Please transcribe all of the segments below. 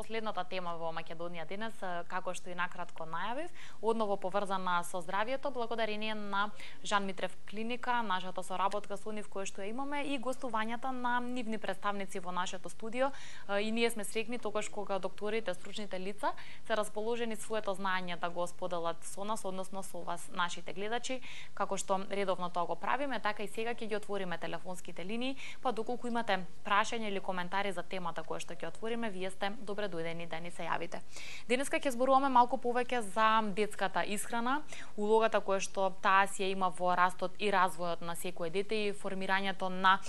последната тема во Македонија денес, како што и накратко најавив, одново поврзана со здравјето, благодарение на Жан Митрев клиника, нашата соработка со нив која што ја имаме и гостувањата на нивни представници во нашето студио. И ние сме среќни тогаш кога докторите, стручните лица се расположени своето знаење да го споделат со нас, односно со вас, нашите гледачи, како што редовно тоа го правиме, така и сега ќе ги отвориме телефонските линии, па доколку имате прашања или коментари за темата која што ќе отвориме, вие сте добре дојдени да ни се јавите. Денеска ќе зборуваме малку повеќе за детската исхрана, улогата која што таа си ја има во растот и развојот на секое дете и формирањето на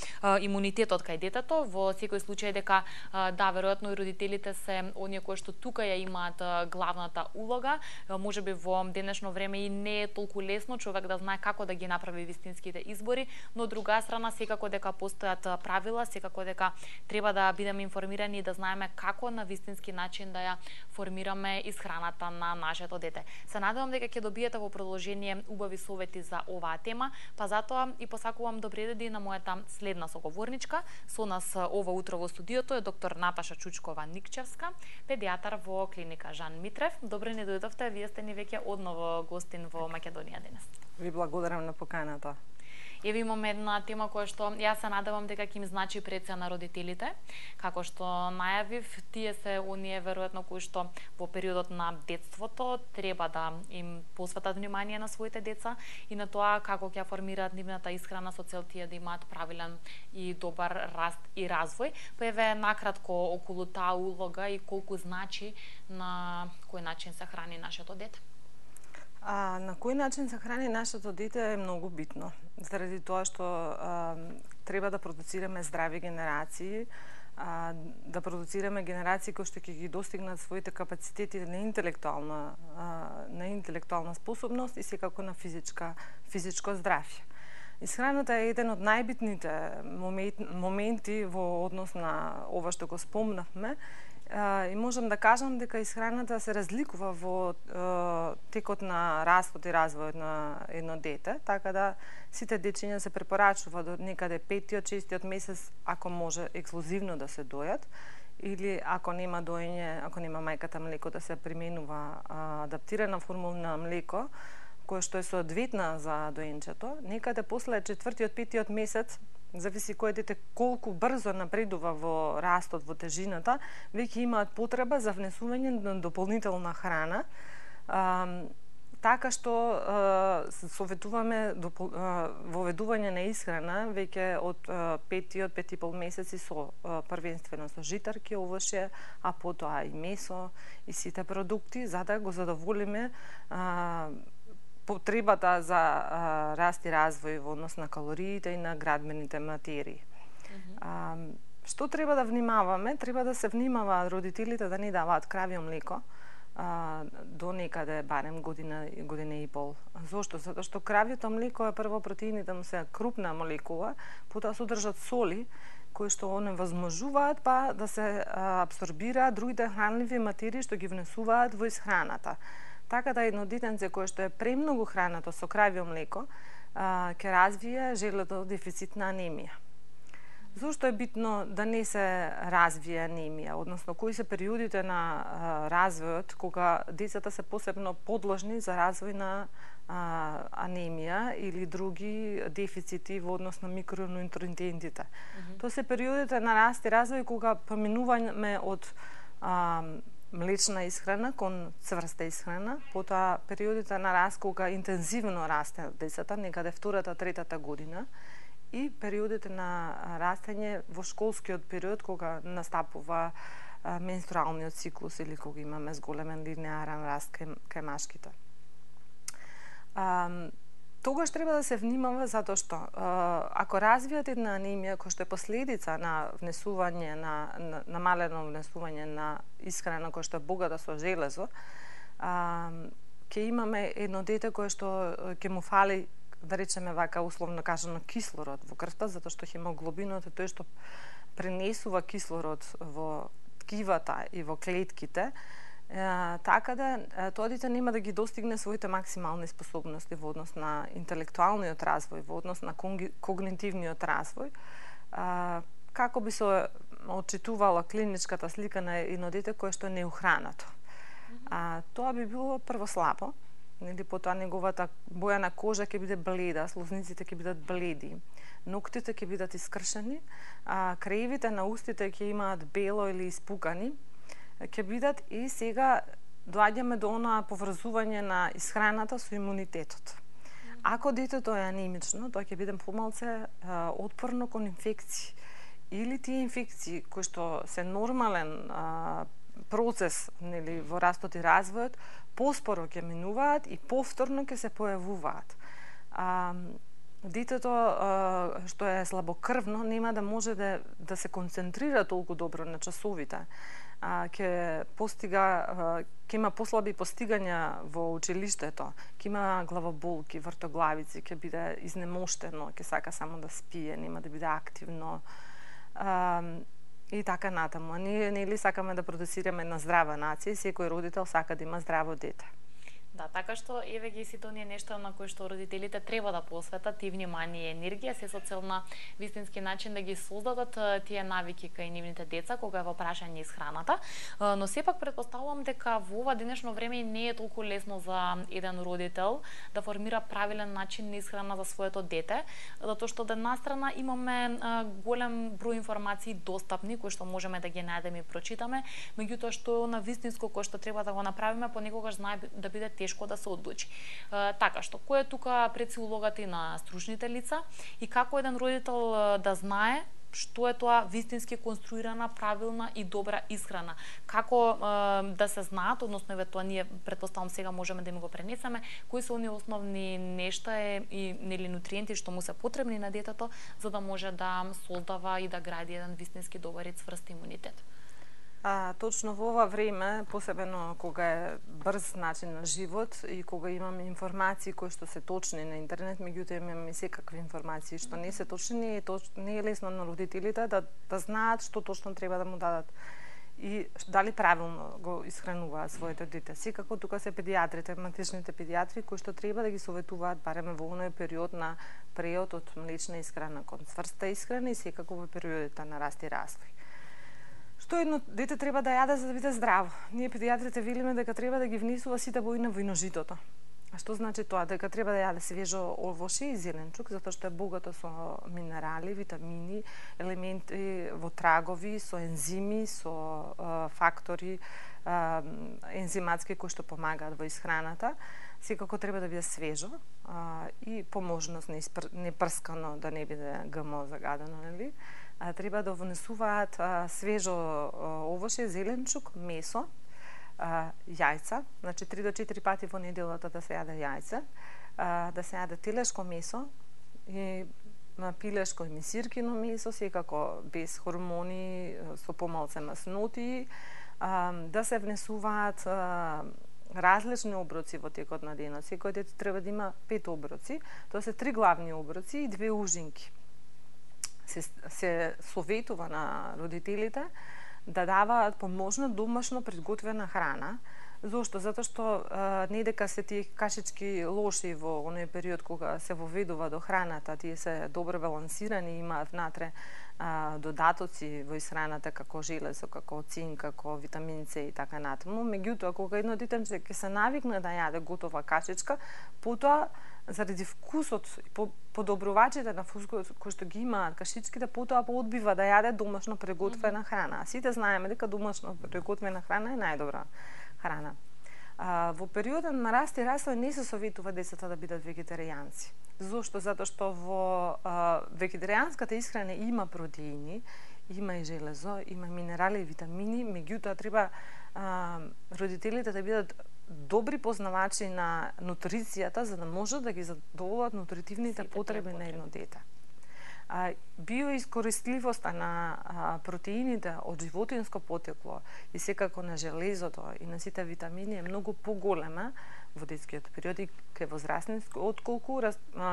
имунитетот кај детето. Во секој случај дека да, веројатно и родителите се оние кои што тука ја имаат главната улога. Можеби во денешно време и не е толку лесно човек да знае како да ги направи вистинските избори, но од друга страна секако дека постојат правила, секако дека треба да бидеме информирани и да знаеме како на вистински начин да ја формираме исхраната на нашето дете. Се надевам дека ќе добиете во продолжение убави совети за оваа тема, па затоа и посакувам добре дојди на мојата следна соговорничка. Со нас ова утро во студиото е доктор Наташа Чучкова-Никчевска, педијатар во клиника Жан Митрев. Добре ни дојдовте, вие сте ни веќе одново гостин во Македонија денес. Ви благодарам на поканата. Еве имаме една тема која што јас се надевам дека ќе им значи преца на родителите. Како што најавив, тие се оние веројатно кои што во периодот на детството треба да им посветат внимание на своите деца и на тоа како ќе формираат нивната исхрана со цел тие да имаат правилен и добар раст и развој. Па еве накратко околу таа улога и колку значи на кој начин се храни нашето дете. На кој начин се храни нашето дете е многу битно, заради тоа што треба да продуцираме здрави генерации, да продуцираме генерации кои што ќе ги достигнат своите капацитети на интелектуална способност и секако на физичко здравје. Исхраната е еден од најбитните моменти во однос на ова што го спомнавме, и можам да кажам дека исхраната се разликува во текот на растот и развојот на едно дете, така да сите дечиња се препорачува до некаде 5-6 месец, ако може ексклузивно да се дојат, или ако нема доење, ако нема мајката млеко, да се применува адаптирана формула на млеко, која што е соодветна за доенчето. Некаде после 4-5 месец, зависи кој дете колку брзо напредува во растот, во тежината, веќе имаат потреба за внесување на дополнителна храна, така што советуваме воведување на исхрана веќе од 5-5,5 месеци со првенствено со житарки, овошје, а потоа и месо и сите продукти, за да го задоволиме потребата за раст и развој во однос на калориите и на градбените материи. Што треба да внимаваме? Треба да се внимава родителите да не даваат кравје млеко до некаде барем година и пол. Зошто? Затоа што кравјето млеко е прво протеините му се крупна молекула, потоа содржат соли кои што оневозможуваат па да се апсорбираат другите хранливи материи што ги внесуваат во исхраната. Така да едно детенце кое што е премногу хранато со кравје млеко ќе развие желето дефицитна анемија. Зошто е битно да не се развие анемија, односно кои се периодите на развојот кога децата се посебно подложни за развој на анемија или други дефицити во однос на микронутриентите. Тоа се периодите на раст и развој кога поминуваме од млечна исхрана кон цврста исхрана, потоа периодите на раст кога интензивно расте децата, некаде втората, третата година, и периодите на растење во школскиот период кога настапува менструалниот циклус или кога имаме зголемен линеарен раст кај машките. Тогаш треба да се внимава затоа што ако развијат една анемија која што е последица на внесување на намалено внесување на исхрана која што е богата со железо, ќе имаме едно дете кое што ќе му фали, да речеме вака условно кажано, кислород во крвта, затоа што хемоглобинот е тој што пренесува кислород во ткивата и во клетките, така да тоа дете нема да ги достигне своите максимални способности во однос на интелектуалниот развој, во однос на когнитивниот развој, како би се отчитувала клиничката слика на едно дете кое што не е ухранато. Тоа би било прво слабо, нели, потоа неговата боја на кожа ќе биде бледа, слозниците ќе бидат бледи, ноктите ќе бидат искршени, креивите на устите ќе имаат бело или испукани, ќе бидат, и сега доаѓаме до онаа поврзување на исхраната со имунитетот. Ако детето е анемично, тоа ќе биде помалце отпорно кон инфекции. Или тие инфекции кои што се нормален процес, нели, во растот и развојот, поспоро ќе минуваат и повторно ќе се појавуваат. Детето што е слабокрвно нема да може да се концентрира толку добро на часовите. Ќе има послаби постигања во училиштето, ќе има главоболки, вртоглавици, ќе биде изнемоштено, ќе сака само да спие, нема да биде активно. И така натаму. Ние нели сакаме да продуцираме една здрава нација и секој родител сака да има здраво дете. Да, така што еве ги сите оние нешта на кои што родителите треба да посветат и внимание и енергија, се со цел на вистински начин да ги создадат тие навики кај нивните деца кога е во прашање исхраната, но сепак претпоставувам дека во ова денешно време не е толку лесно за еден родител да формира правилен начин на исхрана за своето дете, затоа што од една страна имаме голем број информации достапни кои што можеме да ги најдеме и прочитаме, меѓутоа што на вистинско кој што треба да го направиме понекогаш знае да биде тешко да се одлучи. Така што, која е тука пред се улогата и на стручните лица и како еден родител да знае што е тоа вистински конструирана, правилна и добра исхрана? Како да се знаат, односно еве тоа ние претпоставам сега можеме да ми го пренесеме, кои се оние основни нешта и нели нутриенти што му се потребни на детето за да може да создава и да гради еден вистински добар и цврст имунитет? Точно во ова време, посебено кога е брз начин на живот и кога имаме информации кои што се точни на интернет, меѓутоа имаме и секакви информации што не се точни, не е лесно на родителите да знаат што точно треба да му дадат и дали правилно го исхрануваат своето дете. Секако тука се педиатрите, матичните педиатри кои што треба да ги советуваат барем во оној период на преод од млечна исхрана кон цврста исхрана и секако во периодите на раст и развој. Што едно дете треба да јаде за да биде здраво? Ние педиатрите велиме дека треба да ги внесува сите бои на војножитото. А што значи тоа? Дека треба да јаде свежо овошје и зеленчук, затоа што е богато со минерали, витамини, елементи во трагови, со ензими, со фактори ензиматски кои што помагаат во исхраната. Секако треба да биде свежо и по можност не прскано, да не биде ГМО загадено, нели? Треба да внесуваат свежо овошје, зеленчук, месо, јајца, значи 3 до 4 пати во неделата да се јаде јајце, да се јаде телешко месо и пилешко и месиркино месо, секако без хормони, со помалце масноти, да се внесуваат различни оброци во текот на денот. Секој дете треба да има 5 оброци, тоа се 3 главни оброци и 2 ужинки. Се советува на родителите да даваат помошно домашно приготвена храна. Зошто? Затоа што не дека се тие кашички лоши во оној период кога се воведува до храната, тие се добро балансирани, имаат внатре додатоци во исхраната како железо, како цинк, како витамин С и така натаму. Меѓутоа, кога едно детенце ќе се навикне да јаде готова кашичка, потоа заради вкусот и подобрувачите на вкусот кои што ги имаат кашичките, потоа одбива да јаде домашно приготвена храна. Сите знаеме дека домашно приготвена храна е најдобра храна. Во периодот на раст и развој не се советува децата да бидат вегетаријанци. Зошто? Затоа што во вегетаријанската исхрана има протеини, има и железо, има минерали и витамини, меѓутоа треба родителите да бидат добри познавачи на нутрицијата за да можат да ги задоволат нутритивните потреби на едно дете. Биоискористливоста на протеините од животинско потекло и секако на железото и на сите витамини е многу поголема во детскиот период и кај возрастните отколку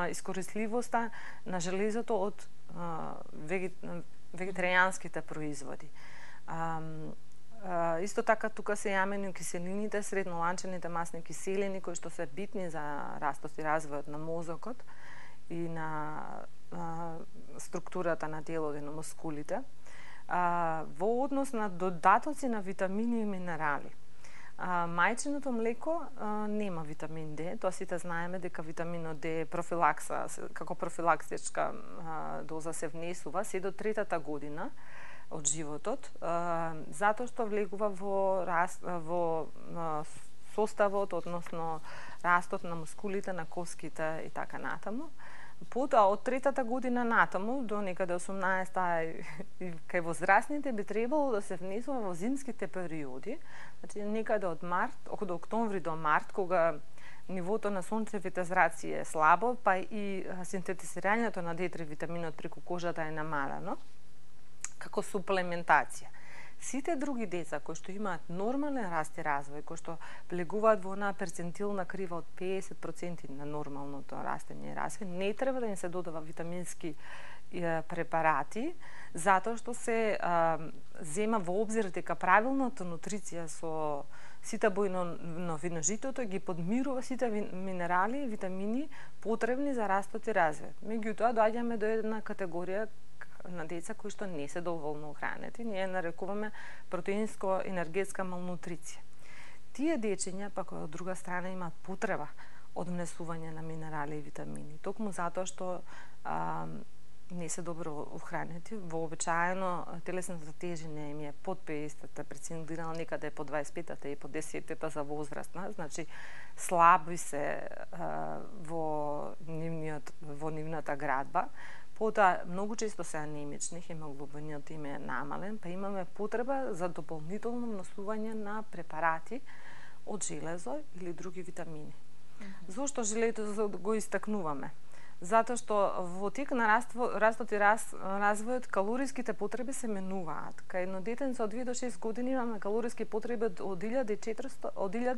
искористливоста на железото од вегетаријанските производи. Исто така тука се јамени киселините, средноланчените масни киселини кои што се битни за растот и развојот на мозокот и на структурата на телото и на мускулите. во однос на додатоци на витамини и минерали. Мајчиното млеко нема витамин Д, тоа сите знаеме дека витаминот Д профилакса, како профилактичка доза се внесува се до 3-та година од животот, затоа што влегува во составот, односно растот на мускулите, на коските и така натаму. Потоа од 3-та година натаму до некаде 18-та и кај возрастните би требало да се внесува во зимските периоди, значи некаде од октомври до март, кога нивото на сончевите зраци е слабо, па и синтетизирањето на D3 витаминот преку кожата е намалено, како суплементација. Сите други деца кои што имаат нормален раст и развој, кои што влегуваат во една перцентилна крива од 50% на нормалното растење и развој, не треба да им се додава витамински препарати, затоа што се зема во обзир дека правилната нутриција со сите бои на виножитото ги подмирува сите минерали и витамини потребни за растот и развој. Меѓутоа, доаѓаме до една категорија на деца кои што не се доволно охранети, ние нарекуваме протеинско-енергетска малнутриција. Тие дечиња, пак од друга страна, имаат потреба од внесување на минерали и витамини, токму затоа што не се добро охранети. Вообичаено телесната тежина им е под 50-та, прецизирано некаде по 25-та и по 10-та за возрастна, значи слаби се во нивната градба. Потоа, многу често се анемични, хемоглобинот им е намален, па имаме потреба за дополнително внесување на препарати од железо или други витамини. Зошто железо го истакнуваме? Затоа што во тек на растот и развојот калориските потреби се менуваат. Кај едно детенце од 2 до 6 години имаме калориски потреби од 1000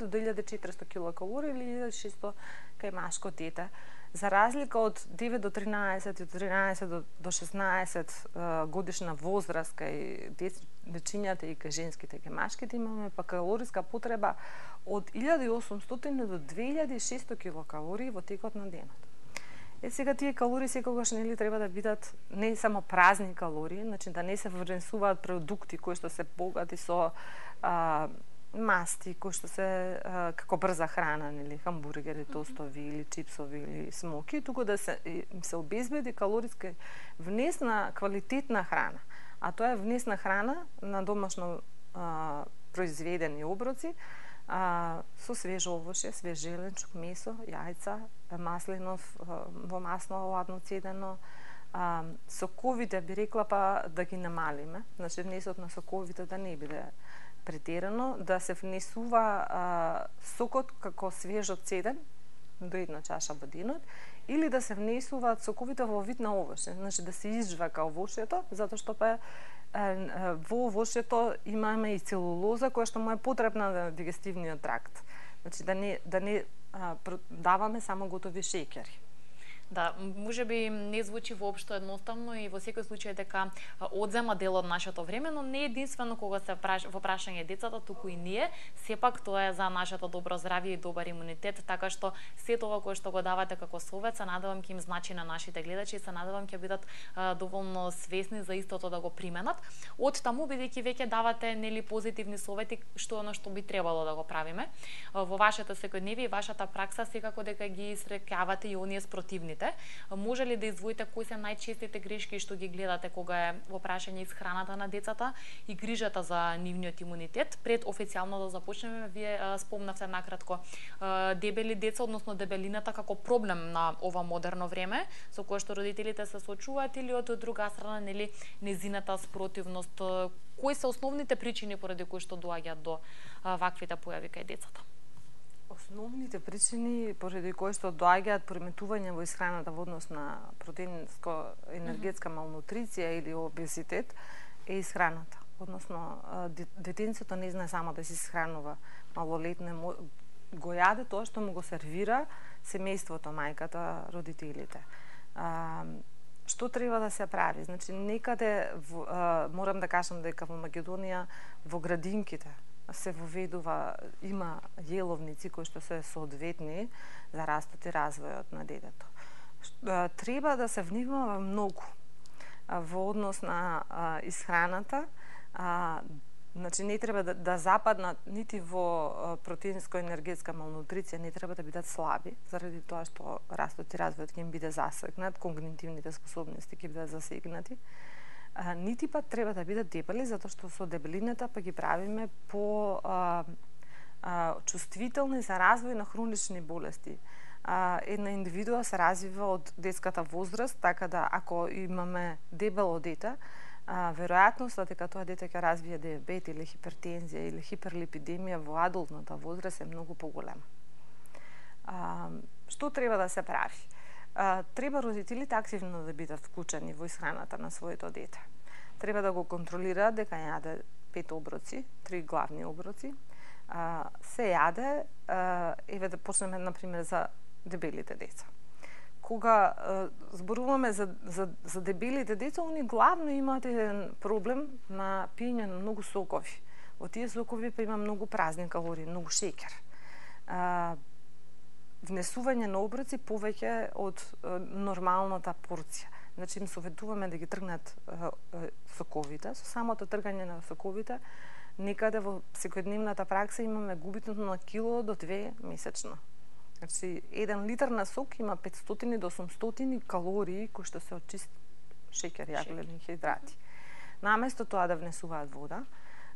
до 1400 килокалории или 1600 кај машко дете. За разлика од 9 до 13 и од 13 до 16 годишна возраст кај дечињата и кај женските и кај машките имаме па калориска потреба од 1800 до 2600 килокалории во текот на денот. Сега тие калории секогаш нели треба да бидат не само празни калории, значи да не се внесуваат продукти кои што се богати со масти, кои што се како брза храна, нели хамбургери, тостови или чипсови или смоки, туку да се обезбеди калориски внес на квалитетна храна. А тоа е внес на храна на домашно произведени оброци, со свежо овошје, свеж зеленчук, месо, јајца, маслинов, во масло ладно цедено, соковите би рекла па да ги намалиме, значи внесот на соковите да не биде претерано, да се внесува сокот како свежо цеден до 1 чаша во денот, или да се внесуваат соковите во вид на овошје, значи да се изжвака овошјето, затоа што па во овошјето имаме и целулоза која што му е потребна на дигестивниот тракт. Значи да не даваме само готови шеќери. Да, можеби не звучи воопшто едноставно и во секој случај дека одзема дел од нашето време, но не единствено кога се во прашање децата, туку и ние, сепак тоа е за нашето добро здравје и добар имунитет, така што се тоа кое што го давате како совет, се надевам ќе им значи на нашите гледачи и се надевам ќе бидат доволно свесни за истото да го применат. Од таму, бидејќи веќе давате нели позитивни совети, што е оно што би требало да го правиме во вашето секојдневие и вашата пракса, секако дека ги среќавате и оние спротивните. Може ли да издвоите кои се најчестите грешки што ги гледате кога е во прашање исхраната на децата и грижата за нивниот имунитет? Пред официјално да започнеме, вие спомнавте накратко дебели деца, односно дебелината како проблем на ова модерно време, со кое што родителите се соочуваат, или од друга страна нели незината спротивност. Кои се основните причини поради кои што доаѓаат до ваквите појави кај децата? Основните причини поради кои што доаѓаат пореметување во исхраната во однос на протеинско-енергетска малнутриција или обезитет е исхраната. Односно, детенцето не знае само да се исхранува, малолетне го јаде тоа што му го сервира семејството, мајката, родителите. Што треба да се прави? Значи, некаде, морам да кажам дека во Македонија, во градинките, се воведува, има јеловници кои што се соодветни за растот и развојот на детето. Треба да се внимава многу. во однос на исхраната, значи не треба да западнат нити во протеинско-енергетска малнутриција, не треба да бидат слаби, заради тоа што растот и развојот ќе им биде засегнат, когнитивните способности ќе бидат засегнати. Нити пат треба да бидат дебели, затоа што со дебелината па ги правиме по чувствителни за развој на хронични болести. Една индивидуа се развива од детската возраст, така да ако имаме дебело дете, веројатноста дека тоа дете ќе развие диабет или хипертензија или хиперлипидемија во адултната возраст е многу поголема. Што треба да се прави? Треба родителите активно да бидат вклучени во исхраната на своето дете. Треба да го контролираат дека јаде 5 оброци, 3 главни оброци. Се јаде, еве да почнеме например за дебелите деца. Кога зборуваме за дебелите деца, они главно имаат еден проблем на пиење на многу сокови. Во тие сокови па има многу празни калории, многу шеќер. Внесување на оброци повеќе од нормалната порција. Значи им советуваме да ги тргнат соковите. Со самото тргање на соковите, некаде во секојдневната пракса имаме губитното на кило до 2 месечно. Значи, 1 литар на сок има 500 до 800 калории кои што се од чист шеќер, јаглени хидрати. Наместо тоа да внесуваат вода,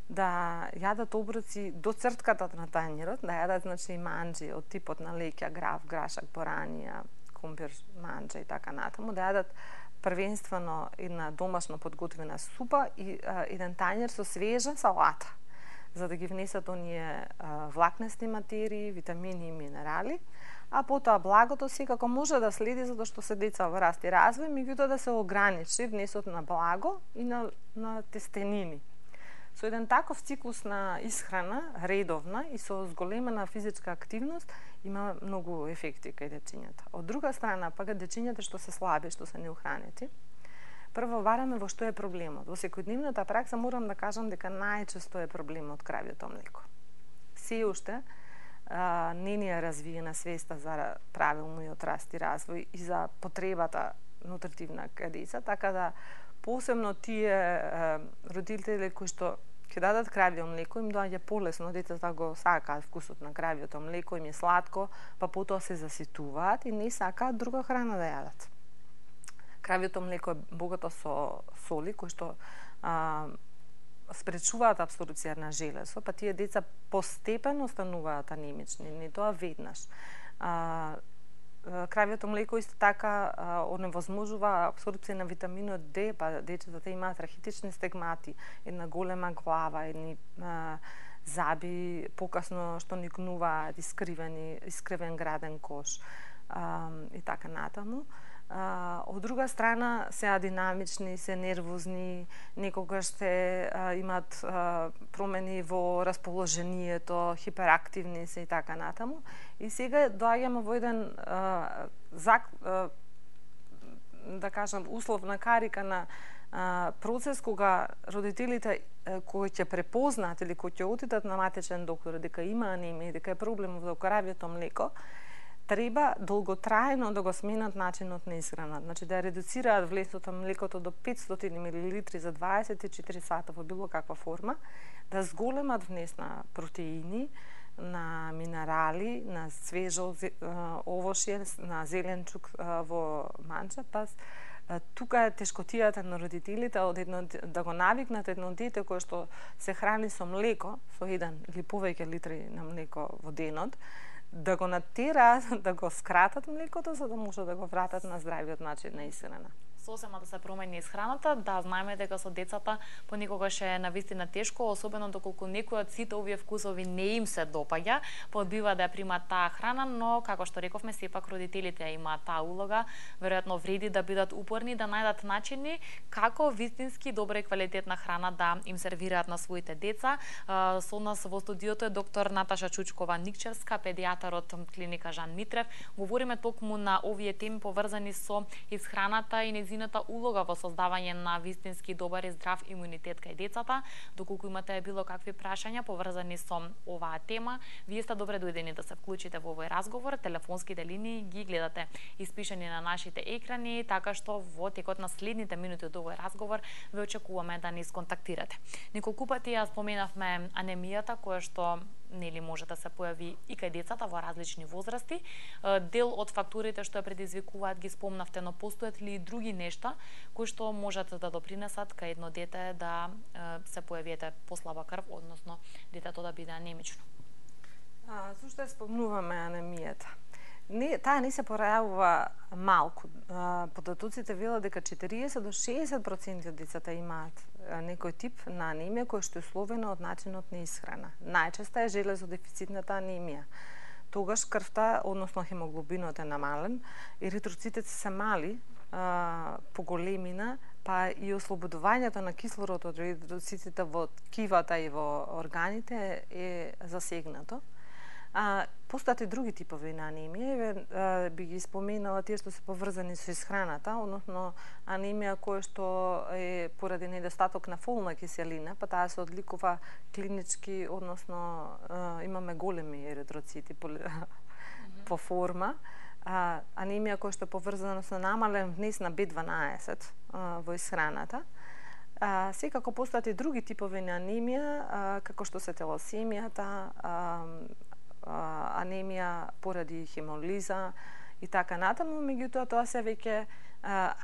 да јадат оброци до цртката на тањерот, да јадат значи манџи од типот на леќа, граф, грашак, боранија, компир, манџа и така натаму, да јадат првенствено една домашно подготвена супа и еден тањер со свежа салата, за да ги внесат оние влакнести материи, витамини и минерали, а потоа благото секако може да следи затоа што се деца во раст и развој, меѓутоа да се ограничи внесот на благо и на тестенини. Со еден таков циклус на исхрана, редовна и со зголемена физичка активност, има многу ефекти кај дечињата. Од друга страна, пак дечињата што се слаби, што се неухранети, прво вараме во што е проблемот. Во секојдневната пракса морам да кажам дека најчесто е проблемот кравјото млеко. Се уште не ни е развиена свеста за правилниот раст и развој и за потребата нутритивна кај деца, така да посебно тие родители кои што ќе дадат кравје млеко, им доаѓа полесно, децата го сакаат вкусот на кравјото млеко, им е сладко, па потоа се заситуваат и не сакаат друга храна да јадат. Кравјото млеко е богато со соли кои што спречуваат абсорбција на железо, па тие деца постепено стануваат анемични, не тоа веднаш. Кравјото млеко исто така оневозможува абсорбција на витаминот Д, па децата имаат рахитични стегмати, една голема глава, едни заби покасно што никнуваат, искривен граден кош и така натаму. Од друга страна се динамични, се нервозни, некогаш се имат промени во расположението, хиперактивни се и така натаму. И сега доаѓаме во еден да кажам условна карика на процес кога родителите кои ќе препознаат или кои ќе отидат на матичен доктор дека има анемија, дека е проблем во кравјето млеко, треба долготрајно да го сменат начинот на исхрана. Значи да редуцираат влесот на млекото до 500 мл за 24 сата во било каква форма, да зголемат внес на протеини, на минерали, на свежо овошје, на зеленчук во манџа, па тука е тешкотијата на родителите да го навикнат едно дете кое што се храни со млеко, со 1 или повеќе литри на млеко во денот, да го натераат да го скратат млекото за да може да го вратат на здравиот начин на исхрана. Сосема да се промени исхраната, да знаеме дека со децата понекогаш е навистина тешко, особено доколку некој од сите овие вкусови не им се допаѓа, одбива да ја примат таа храна, но како што рековме, сепак родителите имаат таа улога, веројатно вреди да бидат упорни, да најдат начини како вистински добра и квалитетна храна да им сервираат на своите деца. Со нас во студиото е доктор Наташа Чучкова-Никчевска, педијатар од клиника Жан Митрев. Говориме токму на овие теми поврзани со исхраната и нејзината улога во создавање на вистински добар и здрав имунитет кај децата. Доколку имате било какви прашања поврзани со оваа тема, вие сте добре дојдени да се вклучите во овој разговор. Телефонските линии ги гледате испишани на нашите екрани, така што во текот на следните минути од овој разговор ве очекуваме да ни сконтактирате. Неколку пати ја споменавме анемијата, која што нели може да се појави и кај децата во различни возрасти. Дел од факторите што ја предизвикуваат ги спомнавте, но постојат ли и други нешта кои што можат да допринесат кај едно дете да се појави послаба крв, односно детето да биде анемично? Зошто ја спомнуваме анемијата? Таа не се порајавува малку. Податоците велат дека 40 до 60% од децата имаат некој тип на анемија која што е условена од начинот на исхрана. Најчеста е железодефицитната анемија. Тогаш крвта, односно хемоглобинот е намален, еритроцитите се мали по големина, па и ослободувањето на кислород од еритроцитите во ткивата и во органите е засегнато. Постојат и други типови на анемија, би ги споменала тие што се поврзани со исхраната, односно анемија која што е поради недостаток на фолна киселина, па таа се одликува клинички, односно имаме големи еритроцити по форма. Анемија која што е поврзана со намален внес на B12 во исхраната. Секако постојат и други типови на анемија, како што се телосемијата, анемија поради хемолиза и така натаму, меѓутоа тоа се веќе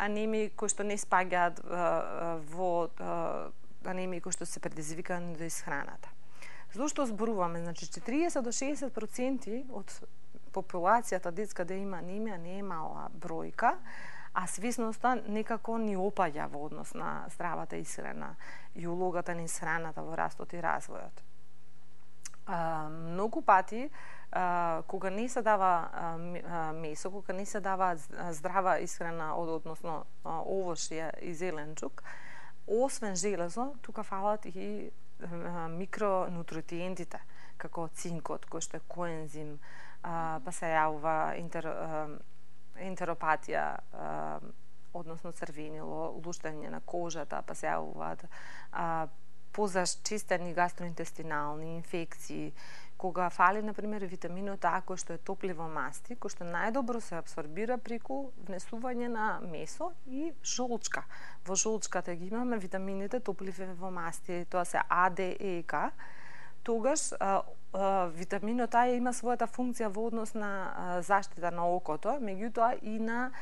анемии кои што не спаѓаат во анемии кои што се предизвикани од исхраната. Зошто зборуваме? Значи 40 до 60% од популацијата детска да има анемија не е мала бројка, а свесноста некако ни опаѓа во однос на здравата исхрана и улогата на исхраната во растот и развојот. Многу пати, кога не се дава месо, кога не се дава здрава исхрана, односно овошје и зеленчук, освен железо, тука фалат и микронутриентите, како цинкот, кој што е коензим, па се јавува ентеропатија, односно црвенило, луштање на кожата, па се јавуваат позачистени гастроинтестинални инфекции, кога фали, например, витаминот А, кој што е топливо масти, кој што најдобро се абсорбира преку внесување на месо и жолчка. Во жолчката ги имаме витамините топливо масти, тоа се А, Д, Е и К. Тогаш витаминот А има својата функција во однос на заштита на окото, меѓутоа и на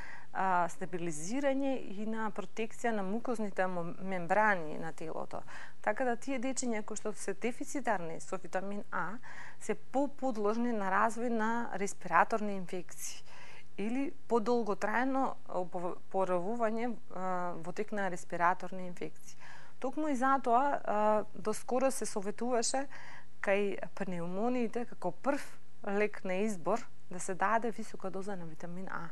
стабилизирање и на протекција на мукозните мембрани на телото. Така да тие дечиња кои што се дефицитарни со витамин А се подложни на развој на респираторни инфекции или подолготрајно поравување во тек на респираторни инфекции. Токму и затоа доскоро се советуваше кај пнеумониите како прв лек на избор да се даде висока доза на витамин А.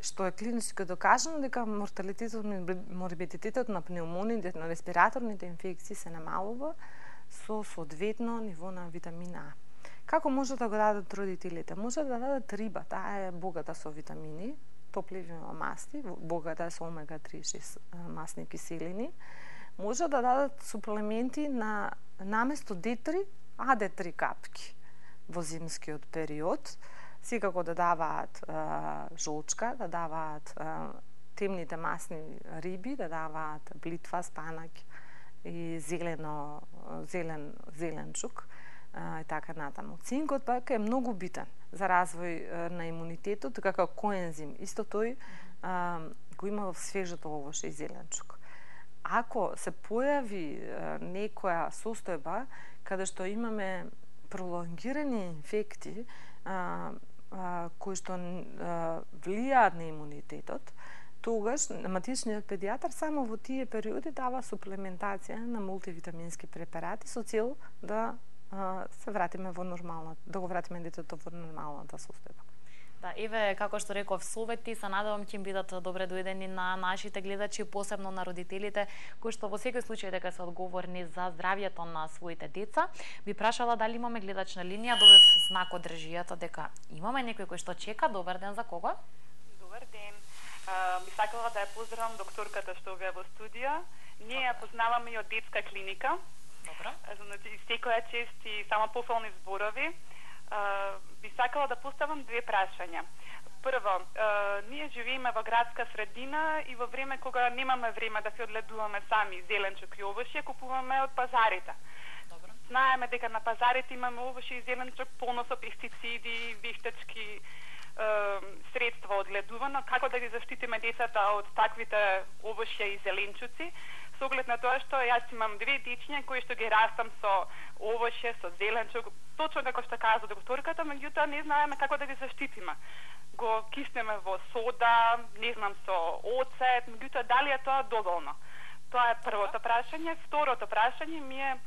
Што е клинички докажано дека морталитетот, морбидитетот на пнеумониите, на респираторните инфекции се намалува со соодветно ниво на витамин А. Како може да го дадат родителите? Може да дадат риба, таа е богата со витамини, топливи масти, богата е со омега-3 масни киселини. Може да дадат суплементи на наместо D3, AD3 капки во зимскиот период. Секако да даваат жолчка, да даваат темните масни риби, да даваат блитва, спанак и зеленчук и така натаму. Цинкот пак е многу битен за развој на имунитетот, како коензим. Исто тој го има во свежото овоше и зеленчук. Ако се појави некоја состојба каде што имаме пролонгирани инфекти кои што влијаат на имунитетот, тогаш матичниот педијатар само во тие периоди дава суплементација на мултивитамински препарати со цел да се вратиме во нормалната, да го вратиме детето во нормалната состојба. Да, еве, како што реков, совети, се надевам ќе бидат добре дојдени на нашите гледачи, посебно на родителите, кои што во секој случај дека се одговорни за здравјето на своите деца. Би прашала дали имаме гледач на линија, добив знак од режијата дека имаме некој кој што чека. Добар ден, за кого? Добар ден. Би сакала да ја поздравам докторката што е во студија. Ние ја познаваме и од детска клиника. Добро. Значи, секоја чест и само пофални зборови. Би сакала да поставам две прашања. Прво, ние живееме во градска средина и во време кога немаме време да се одледуваме сами зеленчук и овошје, купуваме од пазарите. Добро. Знаеме дека на пазарите имаме овошје и зеленчук полно со пестициди, вештачки средства одледувано. Како да ги заштитиме децата од таквите овошје и зеленчуци? Со оглед на тоа што јас имам две дечиња кои што ги растам со овошје, со зеленчук, точно како што кажа докторката, меѓутоа не знаеме како да ги заштитиме. Го киснеме во сода, не знам, со оцет, меѓутоа дали е тоа доволно? Тоа е првото прашање. Второто прашање ми е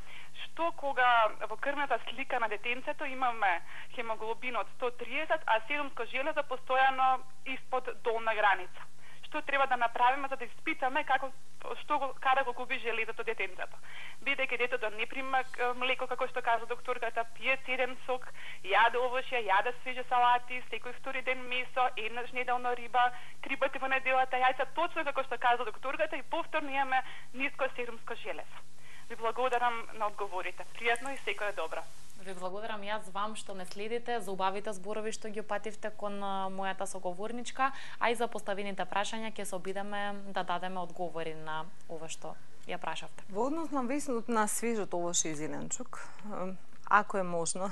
што кога во крвната слика на детенцето имаме хемоглобин од 130, а седумско железо постојано испод долна граница. Што треба да направиме за да испитаме каде го губи железото детенцето. Бидејќи детето не прима млеко, како што кажа докторката, пие цеден сок, јаде овошје, јаде свежи салати, секој втори ден месо, еднаш неделно риба, 3 пати во неделата јајца, точно како што кажа докторката, и повторно имаме ниско седумско железо. Ви благодарам на одговорите. Пријатно и секое добро. Ви благодарам јас вам што не следите, за убавите зборови што ги опативте кон мојата соговорничка, а и за поставените прашања ќе се обидеме да дадеме одговори на ова што ја прашавте. Во однос на весното на свежото овошје и зеленчук, ако е можно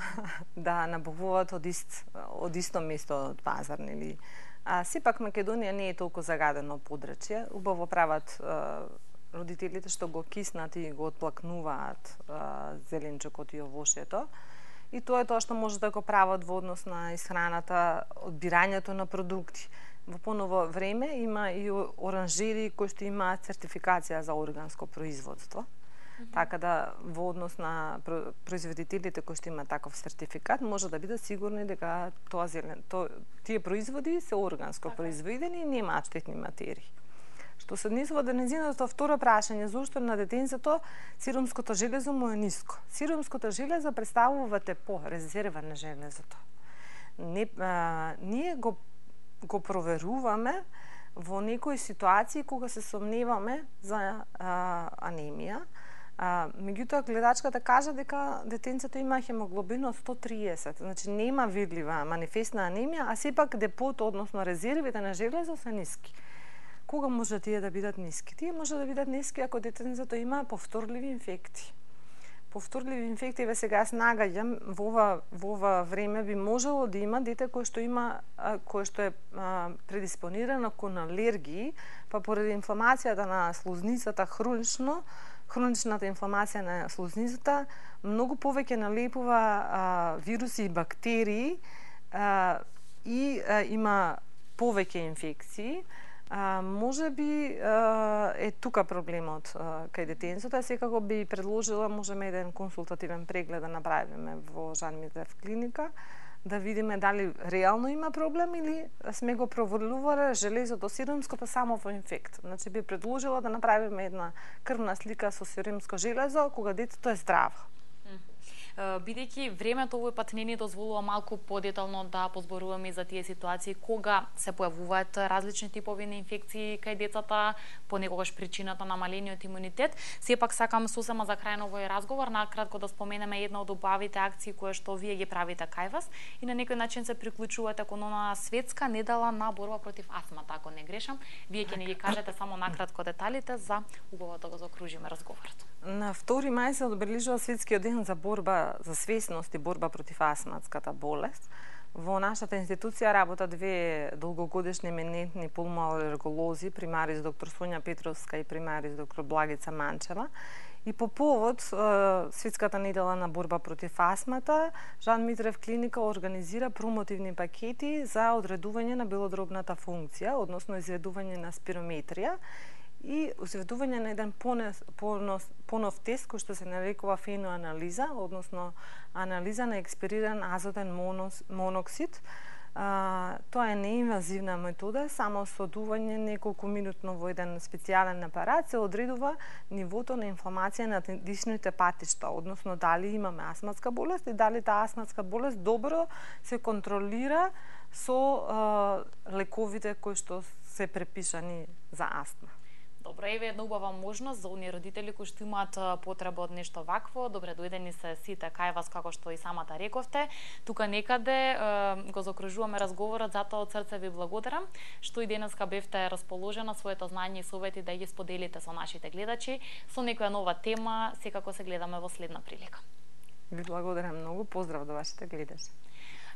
да набавуваат од исто место од пазар, нели? Сепак Македонија не е толку загадено подрачје, убаво прават родителите што го киснат и го отплакнуваат зеленчукот и овошјето. И тоа е тоа што може да го прават во однос на исхраната, одбирањето на продукти. Во поново време има и оранжери кои што имаат сертификација за органско производство. Така да во однос на производителите кои што имаат таков сертификат може да бидат сигурни дека тие производи се органско произведени и немаат штетни материи. Што се однесува до нејзиното второ прашање, зошто на детенцето сирумското железо му е ниско. Сирумското железо представува тепо, резерва на железото. Ние го проверуваме во некои ситуации кога се сомневаме за анемија. Меѓутоа гледачката кажа дека детенцето има хемоглобин од 130, значи нема видлива манифестна анемија, а сепак депото, односно резервите на железо се ниски. Кога може тие да бидат ниски? Тие може да бидат ниски ако детенцето има повторливи инфекти. Повторливи инфекти, ве сега јас нагаѓам, во ова време би можело да има дете кој што е предиспонирано кон алергии, па поради инфламацијата на слузницата хроничната инфламација на слузницата, многу повеќе налепува вируси и бактерии и има повеќе инфекции. Може би е тука проблемот кај детенцото, секако би предложила можеме еден консултативен преглед да направиме во Жан Митрев клиника, да видиме дали реално има проблем или сме го провалувале железото сирумското само во инфект. Значи би предложила да направиме една крвна слика со сирумско железо кога детето е здраво. Бидејќи времето овој пат не ни дозволува малку подетално да позборуваме и за тие ситуации кога се појавуваат различни типови на инфекции кај децата, понекогаш причината на малениот имунитет. Сепак сакам сосема за крај на овој разговор накратко да споменеме една од убавите акции кои што вие ги правите кај вас и на некој начин се приклучувате кон она светска недела на борба против астмата, ако не грешам. Вие ќе ни ги кажете само накратко деталите за убаво да го закружиме разговорот. На 2 мај се одбележува светскиот ден за борба за свесност и борба против астматската болест. Во нашата институција работат две долгогодишни еминентни пулмоалерголози, примарис доктор Сонја Петровска и примарис доктор Благица Манчева. И по повод светската недела на борба против астмата, Жан Митрев клиника организира промотивни пакети за одредување на белодробната функција, односно изведување на спирометрија и изведување на еден понов тест кој што се нарекува феноанализа, односно анализа на експириран азотен моноксид. Тоа е неинвазивна метода, само со дување неколку минутно во еден специјален апарат се одредува нивото на инфламација на дишните патишта, односно дали имаме астматска болест и дали таа астматска болест добро се контролира со лековите кои што се препишани за астма. Добро, еве една убава можност за оние родители кои што имаат потреба од нешто вакво. Добре дојдени се сите кај вас, како што и самата рековте. Тука некаде го закружуваме разговорот, затоа од срце ви благодарам што и денеска бевте расположена своето знање и совети да ги споделите со нашите гледачи со некоја нова тема. Секако се гледаме во следна прилика. Ви благодарам многу. Поздрав до вашите гледачи.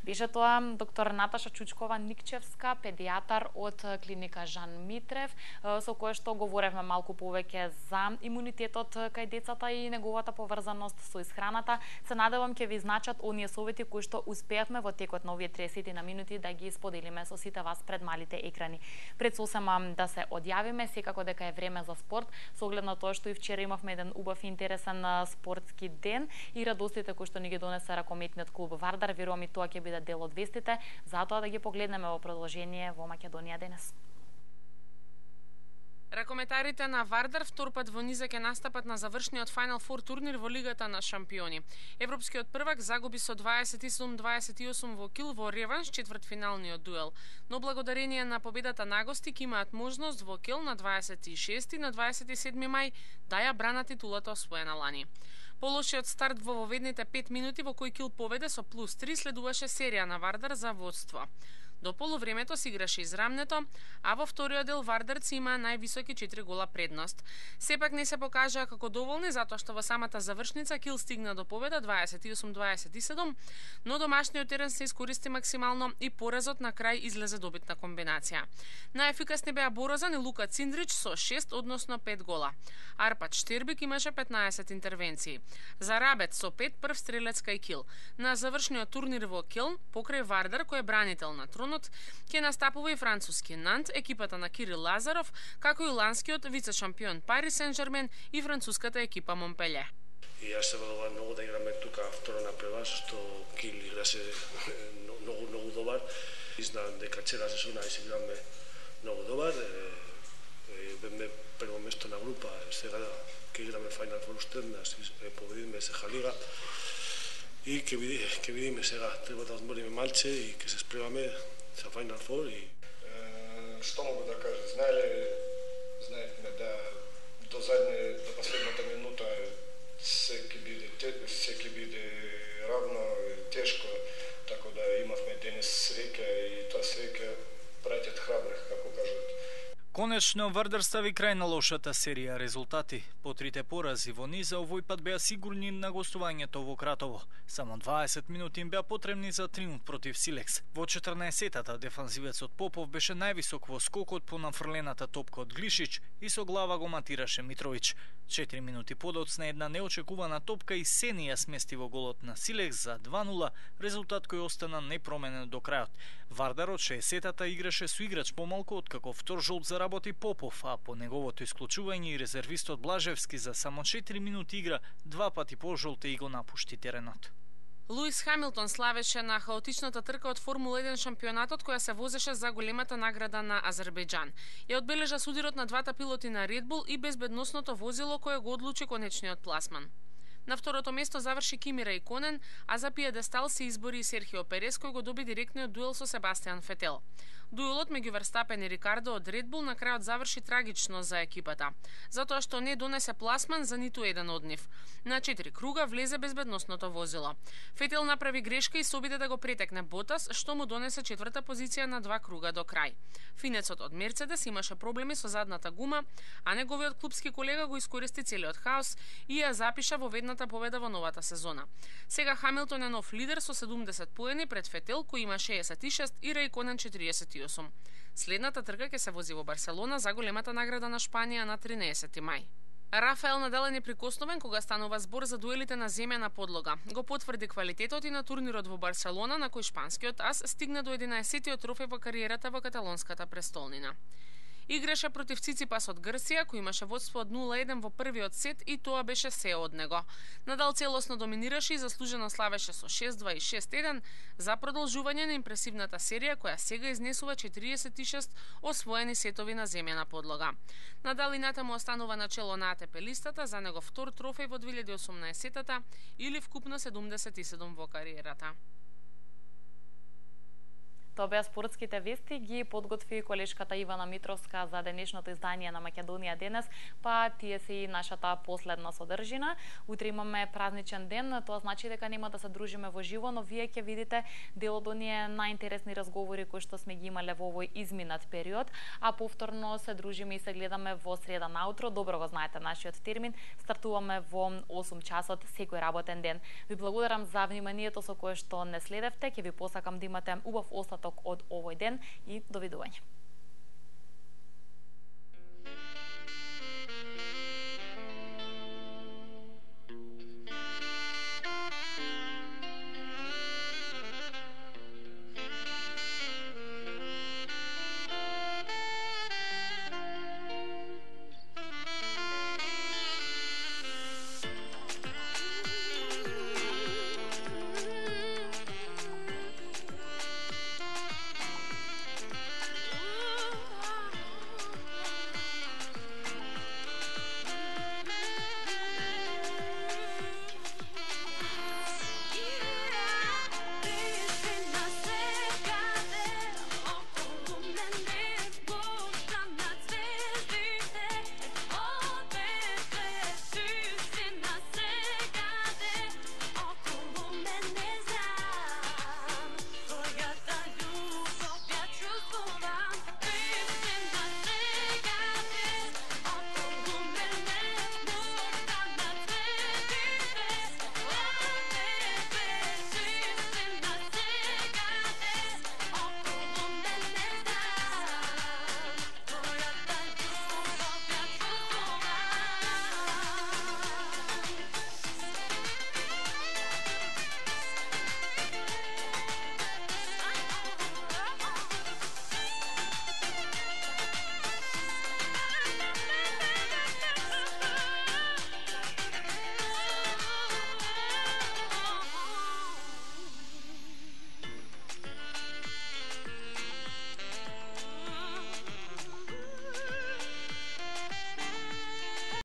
Беше тоа доктор Наташа Чучкова-Никчевска, педијатар од клиника Жан Митрев, со која што говоревме малку повеќе за имунитетот кај децата и неговата поврзаност со исхраната. Се надевам ќе ви значат оние совети кои што успеавме во текот на овие 30 на минути да ги споделиме со сите вас пред малите екрани. Пред сосема да се одјавиме, секако дека е време за спорт, со оглед на тоа што и вчера имавме еден убав и интересен спортски ден и радостите кои што ни ги донесе ракометниот клуб Вардар. Верувам и тоа ќе биде дел од вестите, затоа да ги погледнеме во продолжение во Македонија денес. Ракометарите на Вардар втор пат во низа ќе настапат на завршниот Final Four турнир во Лигата на шампиони. Европскиот првак загуби со 27-28 во Кил во реванш четвртфиналниот дуел, но благодарение на победата на гости ќе имаат можност во Кил на 26 и на 27 мај да ја бранат титулата освоена лани. Полошиот старт во воведните 5 минути во кој Кил поведе со +3 следуваше серија на Вардар за водство. До полувремето се играше израмнето, а во вториот дел Вардарци има највисоки 4 гола предност. Сепак не се покажаа како доволни затоа што во самата завршница Кил стигна до победа 28-27, но домашниот терен се искористи максимално и поразот на крај излезе добитна комбинација. Најефикасни беа Борозан и Лука Циндрич со 6, односно 5 гола. Арпад Штербик имаше 15 интервенции. За Рабет со 5 прв стрелец кај Кил. На завршниот турнир во Келн, покрај Вардар кој е бранител на тронот, ќе настапува и француски Нант, екипата на Кирил Лазаров, како и ланскиот вице-шампион Пари Сен-Жермен и француската екипа Монпеле. И јас се радувам многу да играме тука второ напред, што Кил играше многу добар. И знам дека цела сезона се играме многу добар. Беме прво место на група, сега ќе играме Final Four уштернас, победиме Сеха Лига. И ќе видиме сега, треба да одмориме малце и ќе се спремаме за Final Four. Што могу да кажам? Знаете да до последната минута се ќе биде равно тешко, така да имавме денес среќа и тоа среќа праќат храбрих, како кажат. Конечно, Вардар стави крај на лошата серија резултати. По трите порази во низа овој пат беа сигурни на гостувањето во Кратово. Само 20 минути им беа потребни за триумф против Силекс. Во 14-тата дефанзивецот Попов беше највисок во скокот по нафрлената топка од Глишич и со глава го матираше Митровиќ. 4 минути подоцна една неочекувана топка и Сени ја смести во голот на Силекс за 2-0, резултат кој остана непроменен до крајот. Вардар од 60-тата играше со играч помалку откако втор жолт заработи Попов, а по неговото исклучување и резервистот Блажевски за само 4 минути игра 2 пати по жолте и го напушти теренот. Луис Хамилтон славеше на хаотичната трка од Формула 1 шампионатот која се возеше за големата награда на Азербејџан. Ја одбележа судирот на двата пилоти на Red Bull и безбедносното возило кое го одлучи конечниот пласман. На второто место заврши Кими Раиконен, а за пиедестал се избори Серхио Перес кој го доби директниот дуел со Себастијан Фетел. Дуелот меѓу Верстапен и Рикардо од Red Bull на крајот заврши трагично за екипата, затоа што не донесе пласман за ниту еден од нив. На 4 круга влезе безбедносното возило. Фетел направи грешка и се обиде да го претекне Ботас, што му донесе 4-та позиција на 2 круга до крај. Финецот од Мерцедес имаше проблеми со задната гума, а неговиот клубски колега го искористи целиот хаос и ја запиша во ведната победа во новата сезона. Сега Хамилтон е нов лидер со 70 поени пред Фетел кој има 66 и Раиконен 48. Следната трка ќе се вози во Барселона за големата награда на Шпанија на 13 мај. Рафаел Надал е неприкосновен кога станува збор за дуелите на земјана подлога. Го потврди квалитетот и на турнирот во Барселона на кој шпанскиот ас стигна до 11-тиот трофеј во кариерата во каталонската престолнина. Играше против Циципас од Грција, кој имаше водство од 0-1 во првиот сет и тоа беше се од него. Надал целосно доминираше и заслужено славеше со 6-2 и 6-1 за продолжување на импресивната серија која сега изнесува 46 освоени сетови на земјана подлога. Надал и натаму останува на чело на АТП листата, за него втор трофеј во 2018-тата или вкупно 77 во кариерата. Тоа беа спортските вести, ги подготви колешката Ивана Митровска за денешното издание на Македонија денес, па тие се и нашата последна содржина. Утре имаме празничен ден, тоа значи дека нема да се дружиме во живо, но вие ќе видите дел од оние најинтересни разговори кои што сме ги имале во овој изминат период, а повторно се дружиме и се гледаме во среда наутро. Добро го знаете нашиот термин, стартуваме во 8 часот секој работен ден. Ви благодарам за вниманието со кое што не следевте, ќе ви посакам да имате убав остаток од овој ден и довидување.